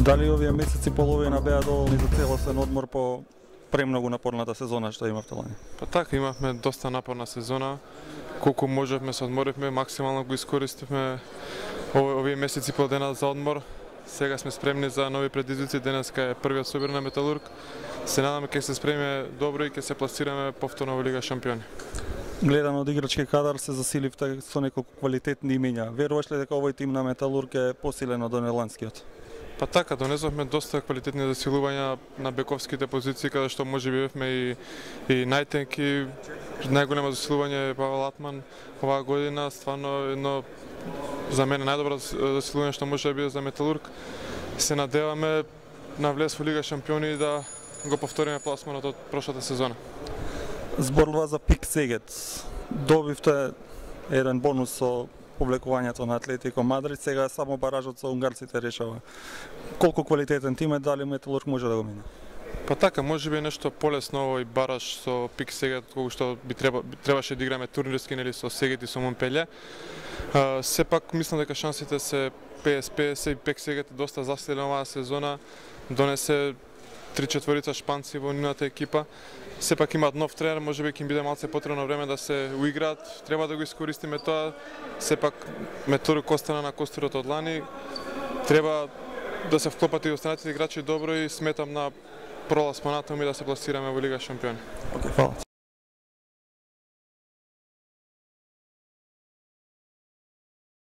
Дали овие месеци половина беа доволни за целосен одмор по премногу напорната сезона што имавте лани? Па така, имавме доста напорна сезона. Колку можевме се одморивме, максимално го искористивме овие месеци по дена за одмор. Сега сме спремни за нови предизвици. Денеска е првиот собир на Металург. Се надаме ќе се спремиме добро и ќе се пласираме повторно во Лига шампиони. Гледано од играчки кадар се засиливте со неколку квалитетни имиња. Веруваш ли дека овој тим на Металург е посилен од онеланскиот? Па така, донесовме доста квалитетни засилувања на бековските позиции, каде што можеби бевме и најтенки. Најголемо засилување е Павел Атман оваа година, стварно едно за мене најдобро засилување што може да биде за Металург. Се надеваме на влез во Лига шампиони да го повториме пласманот од прошлата сезона. Зборува за Пик Сегет. Добивте еден бонус со повлекувањето на Атлетико Мадрид, сега само баражот со унгарците решава. Колку квалитетен тим е, дали Металург може да го мине? Па така, можеби нешто полесно овој бараж со Пик Сегет, колку што требаше да играме турнирски нели со Сегет и со Монпелје. Сепак мислам дека шансите се 50-50 и Пик Сегет е доста засилен оваа сезона. Донесе 3-4 шпанци во нивната екипа. Сепак имаат нов тренер, можеби ќе им биде малце потребно време да се уиграат. Треба да го искористиме тоа. Сепак Металург остана на костурот од лани. Треба да се вклопат и останатите играчи добро и сметам на пролаз понатаму и да се пласираме во Лига шампиони. Фала.